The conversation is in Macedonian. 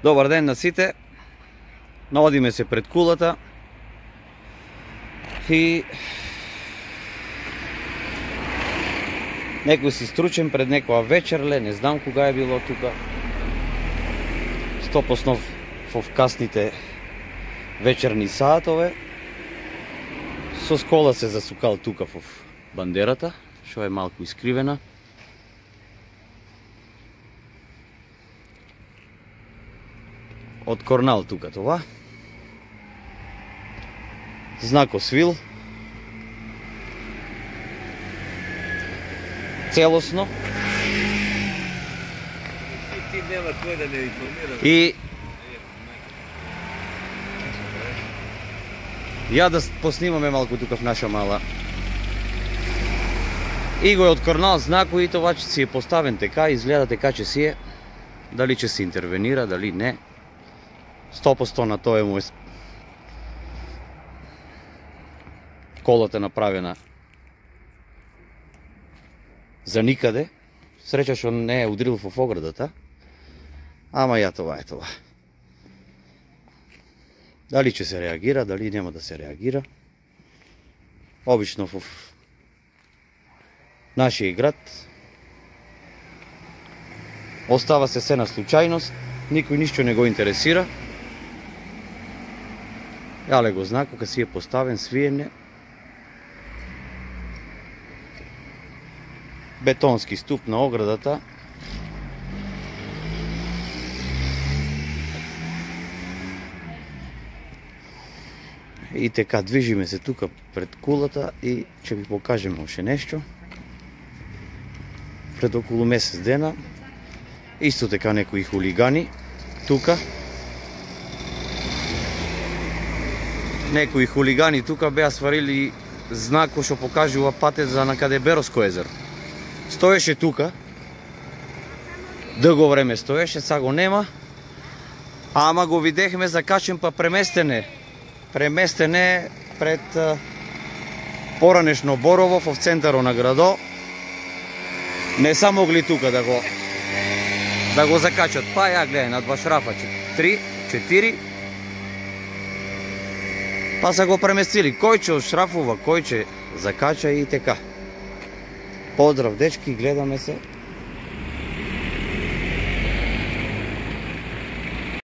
Добар ден на сите. Наодиме се пред кулата и некој си стручен пред некоја вечерле, не знам кога е било тука. Стопоснов во касните вечерни саатове. Со скола се засукал тука во бандерата, што е малку искривена. Од Корнал тука това. Знако свил. Целосно. Ти нема кој да не информира. И ја да поснимаме малку тука в наша мала. И го е од Корнал знако и това че си е поставен така, изгледа така че си е. Дали ќе се интервенира, дали не. 100% на тоа е му колата направена за никаде. Среќа што не е удрил во оградата. Ама ја това е това. Дали ќе се реагира, дали нема да се реагира. Обично во нашиот град остава се на случајност, никој ништо не го интересира. Јале го знако, кога си е поставен, свиене. Бетонски ступ на оградата. И така, движиме се тука пред кулата и ќе ви покажеме още нешто. Пред околу месец дена, исто така некои хулигани тука. Некои хулигани тука беа сварили знак кој што покажува патет за накаде Бероско езеро. Стоеше тука, дълго време стоеше, са го нема, ама го видехме закачен па преместене пред поранешно Борово в центаро на градо. Не са могли тука да го закачат. Па ја гледај, на два шрафа 3, 4. Па са го преместили. Кој ќе шрафува, кој ќе закача и така. Поздрав, дечки, гледаме се.